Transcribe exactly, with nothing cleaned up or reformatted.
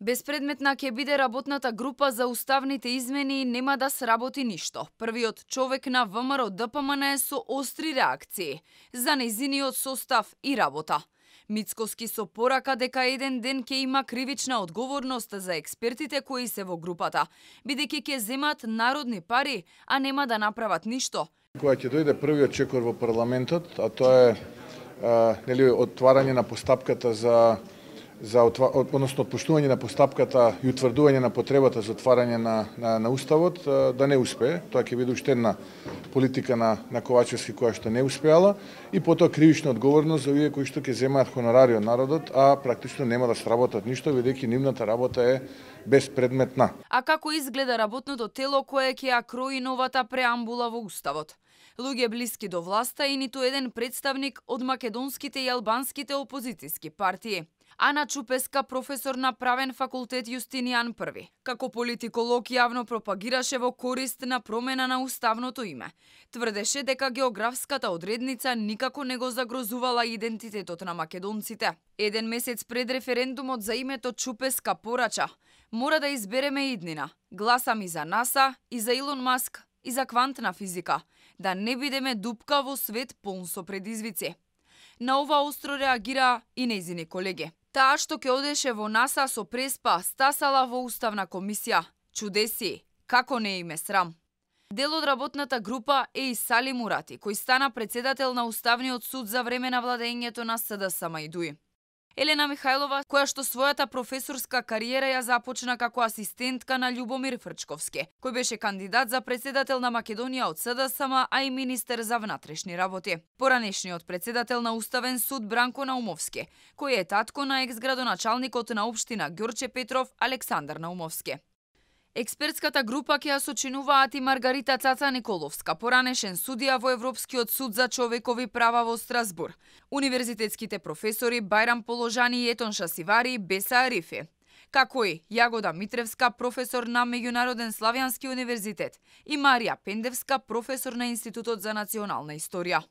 Беспредметна ќе биде работната група за уставните измени и нема да сработи ништо. Првиот човек на ВМРО Д П М Н е со остри реакции за нејзиниот состав и работа. Мицкоски со порака дека еден ден ќе има кривична одговорност за експертите кои се во групата, бидејќи ќе земат народни пари, а нема да направат ништо. Кога ќе дојде првиот чекор во парламентот, а тоа е а, нели отварање на постапката за за односно отпуштување на постапката и утврдување на потребата за отварање на, на, на уставот, да не успее. Тоа ќе биде уште една политика на, на Ковачевски која што не успеала и потоа кривична одговорност за овие кои што ќе земаат хонорари од народот, а практично нема да сработат ништо, бидејќи нивната работа е беспредметна. А како изгледа работното тело кое ќе ја крои новата преамбула во уставот? Луѓе блиски до власта и ниту еден представник од македонските и албанските опозицијски партии. Ана Чупеска, професор на правен факултет Јустинијан Први, како политиколог јавно пропагираше во корист на промена на уставното име. Тврдеше дека географската одредница никако не го загрозувала идентитетот на македонците. Еден месец пред референдумот за името Чупеска порача: "Мора да избереме иднина. Гласам и за НАСА, и за Илон Маск, и за квантна физика, да не бидеме дупка во свет полн со предизвици." На ова остро реагира и нејзини колеги. Таа што ќе одеше во НАСА со преспа, стасала во Уставна комисија. Чудеси, како не им е срам. Дел од работната група е и Сали Мурати, кој стана председател на Уставниот суд за време на владењето на С Д С М И Д У И. Елена Михајлова, која што својата професорска кариера ја започна како асистентка на Љубомир Фрчковски, кој беше кандидат за председател на Македонија од С Д С М, а и министер за внатрешни работи. Поранешниот председател на Уставен суд Бранко Наумовски, кој е татко на екс-градоначалникот на општина Ѓорче Петров Александар Наумовски. Експертската група ќе ја сочинуваат и Маргарита Цаца Николовска, поранешен судија во Европскиот суд за човекови права во Страсбур, универзитетските професори Бајрам Положани и Етонша Сивари, Беса Арифи, како и Јагода Митревска, професор на Меѓународен славјански универзитет, и Марија Пендевска, професор на Институтот за национална историја.